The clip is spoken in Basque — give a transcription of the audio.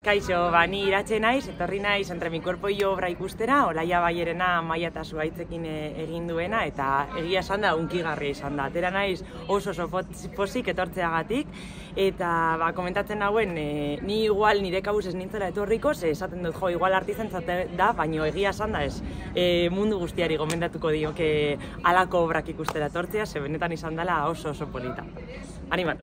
Kaixo, ni Iratxe naiz, etorri naiz Entre mi cuerpo y yo obra ikustera, Olaia Baierena Maia eta Zuhaitzekin egin duena, eta egia esan da hunkigarria izan da. Atera naiz oso pozik etortzeagatik, eta komentatzen nauen, ni igual nire kabuz ez nintzela etorriko, ze esaten dut igual artizentzat da, baino egia esan da ez. Mundu guztiari gomendatuko dioke halako obrak ikustera etortzea, ze benetan izan dela oso polita. Animatu!